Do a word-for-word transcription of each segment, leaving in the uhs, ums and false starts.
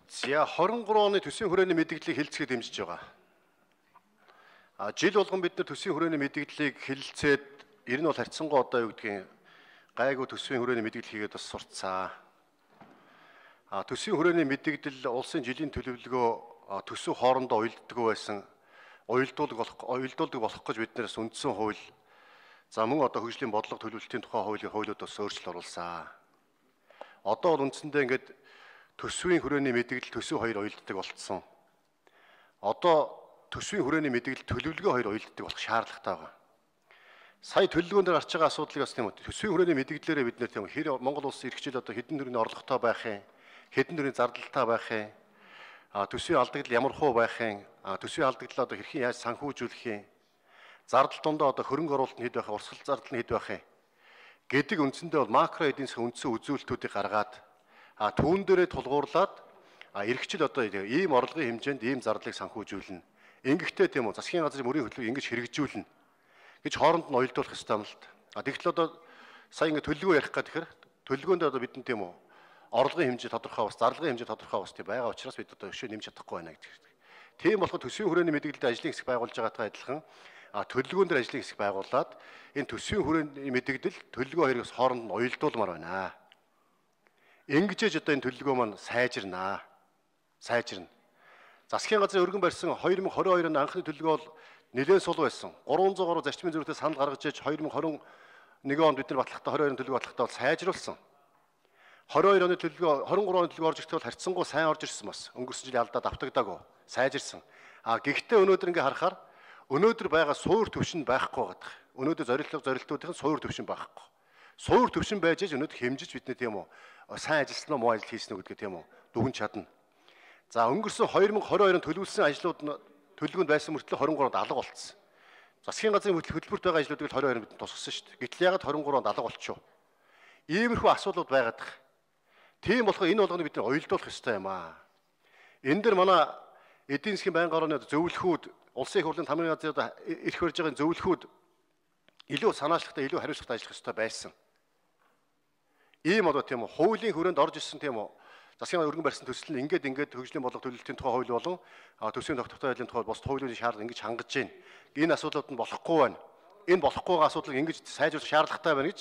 За двадцать trois оны төсвийн хүрээний мэдээллийг хэлцгээд дэмжиж байгаа. А жил болгон бид нар төсвийн хүрээний мэдээллийг хэлэлцээд ер нь бол харьцангуй одоо юу гэдгийг гайгүй төсвийн хүрээний мэдээлэл хийгээд бас сурцсан. А төсвийн хүрээний мэдээлэл улсын жилийн төлөвлөгөө төсөв хоорондоо уялддаг байсан. Уялдуулдаг болох уялдуулдаг болох гэж биднээс үндсэн хууль за мөн одоо хөгжлийн бодлого төлөвлөлтийн тухай хуулийн хуулиуд бас өөрчлөлт оруулсан. Одоо бол үндсэндээ ингээд төсвийн хүрээний мэдээлэл төсөв хоёр уялддаг болцсон. Одоо төсвийн хүрээний мэдээлэл төлөвлөгөө хоёр уялддаг болох шаардлагатай байгаа. Сая төлөвлөгөөн дээр гарч байгаа асуудлыг бас тийм үү төсвийн хүрээний мэдээллээрээ бид нэр тийм хэр Монгол улсын иргэжил одоо хэдэн төрлийн орлоготой байх юм, хэдэн төрлийн зардалтай байх юм, а төсвийн алдагдал ямар хуу байх юм, а төсвийн алдагдлаа одоо хэрхэн яаж санхүүжүүлэх юм, зардал дондоо одоо хөрөнгө оруулалт нь хэд байх, урсгал зардал нь хэд байх юм гэдэг үндсэндээ бол макро эдийн засгийн үндсэн үзүүлэлтүүдийг гаргаад а түүн дээрээ тулгуурлаад а иргэжил одоо ийм орлогын хэмжээнд ийм зардлыг санхүүжүүлнэ. Ингэхдээ тийм үү засгийн газрын мөрийн хөтөлбөрийг ингэж хэрэгжүүлнэ гэж хооронд нь уялдуулах ёстой юм л та. А тэгэхээр одоо сая ингэ төлөвлөгөө ярих гэх тэгэхээр төлөвлөгөөнд одоо бидний тийм үү орлогын хэмжээ тодорхой бас зарлагын хэмжээ тодорхой бас тийм байгаа учраас бид одоо өшөө нэмж чадахгүй байна гэдэг. Тийм болохоор төсвийн хүрээний мэдээлэлд ажлын хэсэг байгуулж байгаатай адилхан а төлөвлөгөөн дээр ажлын хэсэг байгуулад энэ төсвийн хүрээний мэдээлэл төлөвлөгөө хоёрыг хооронд нь уялдуулмаар байна. Ингэжээж одоо энэ төлөвлөгөө маань сайжирнаа. Сайжирна. Засгийн газрын өргөн барьсан две тысячи двадцать two оны анхны төлөвлөгөө бол нэлээд сул байсан. три сто гаруй зарчмын зөвлөлтөд санал гаргаж иж две тысячи twenty-one онд бид нар батлагтай twenty-two оны төлөвлөгөө батлагтай бол сайжруулсан. twenty-two оны төлөвлөгөө twenty-three оны төлөвлөгөө орж ирэхдээ бол харьцангуй сайн орж ирсэн бас. Өнгөрсөн жилийн алдаад автагдаагүй. Сайжирсан. А гэхдээ өнөөдөр ингээ харахаар өнөөдөр байгаа суур төвшин байхгүй байгаа. Өнөөдөр зорилго зорилтуудын суур төвшин байхгүй. Суур төвшин байж аж өнөөдөр хэмжиж бидний тийм үү сайн ажилласан уу муу ажил хийсэн үү гэдгээ тийм үү дүгэн чадна. За өнгөрсөн twenty twenty-two онд төлөвлөсөн ажлууд нь төлөвлөгөөнд байсан мөртлөө twenty-three онд алга болцсон. Засгийн газрын хөтөлбөрт байгаа ажлуудыг twenty-two онд бид тусгасан шүү дээ. Гэтэл ягаад twenty-three онд алга болчихов? Иймэрхүү асуудлууд байгаад байгаа. Тийм болохоор энэ болгоныг бид нар уялдуулах ёстой юм аа. Энэ дэр манай эдийн засгийн байнгын орны зөвлөхүүд улсын их хурлын тамирын газрын ирэх барьж байгаа зөвлөхүүд илүү санаачлагтай илүү хариуцлагатай ажиллах ёстой байсан. Ийм одоо тийм үү хуулийн хүрээнд орж ирсэн тийм үү засгийн өргөн барьсан төсөл нь ингээд ингээд хөгжлийн бодлого төлөвлөлтийн тухай хууль болон төсвийн тогтвортой байдлын тухай бус хуулийн шаардлага ингэж хангаж байна. Энэ асуудлууд нь болохгүй байна. Энэ болохгүй байгаа асуудлыг ингэж сайжруулах шаардлагатай байна гэж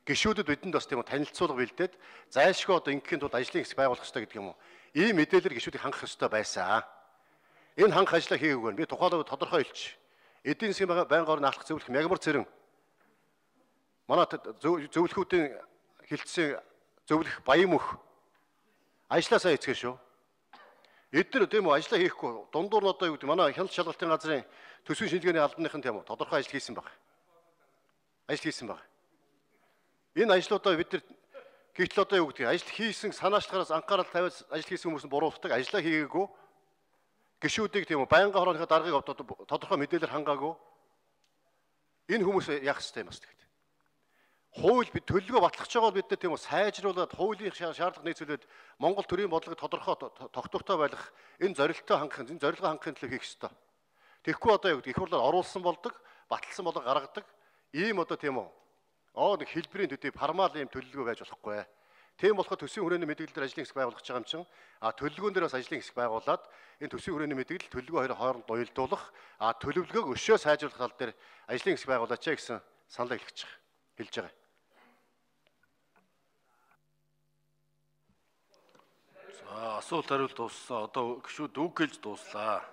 гишүүдэд бидэнд бас тийм үү танилцуулга бэлдээд зайлшгүй одоо ингэхийн тулд ажлын хэсэг байгуулах ёстой гэдэг юм уу. Ийм мэдээлэл гишүүдийг хангах ёстой байсан. Энэ хангах ажлаа хийгээгүй байна. Би тухайлбал тодорхой хэлчих. Эдийн засгийн байнгын орны алхах зөвлөх мягмар цэрэн манай зөвлөхүүдийн хилцсэн зөвлөх баян мөх ажлаа сайн хийцгээ шүү. Эдгээр тийм үү ажлаа хийхгүй дундуур нь одоо юу гэдэг манай хяналт шалгалтын газрын төсвийн шинжилгээний албаныхан тийм үү тодорхой ажил хийсэн баг. Ажил хийсэн баг. Энэ ажлуудаа бид нар гэтэл одоо юу гэдэг ажил хийсэн санаачлагаараас анхаарал тавиад ажил хийсэн хүмүүс нь буруутдаг ажлаа хийгээгүй гишүүдийг тийм үү байнгын хорооныхоо даргыг тодорхой мэдээлэлээр хангаагүй энэ хүмүүс яах ёстой юм бас тэгт. Хууль бид төлөвлөгөө батлах байгаа бол бид нар тийм үү сайжруулад хуулийн шаардлага нийцүүлээд Монгол төрийн бодлогыг тодорхой тогтвортой байлгах энэ зорилттой хангах энэ зорилгоо хангахын төлөө хийх ёстой. Тэгэхгүй одоо юу гэдэг их хурлаар оруулсан болдог, баталсан болго гаргадаг ийм одоо тийм үү оо нэг хэлбэрийн төдий формал ийм төлөвлөгөө байж болохгүй. Тийм болохоор төсвийн хүрээний мэдээлэлээр ажлын хэсэг байгуулах гэж байгаа юм чинь а төлөвлөгөөн дээр бас ажлын хэсэг байгуулад энэ төсвийн хүрээний мэдээлэл төлөвлөгөө хоёрын хооронд уялдуулах а төлөвлөгөөг өшөө сайжруулах тал дээр ажлын хэсэг байгуулаач гэсэн саналаа хэлж байгаа. Хэлж байгаа. За асуулт хариулт дууссан. Одоо гişүүд үг гэлж дууслаа.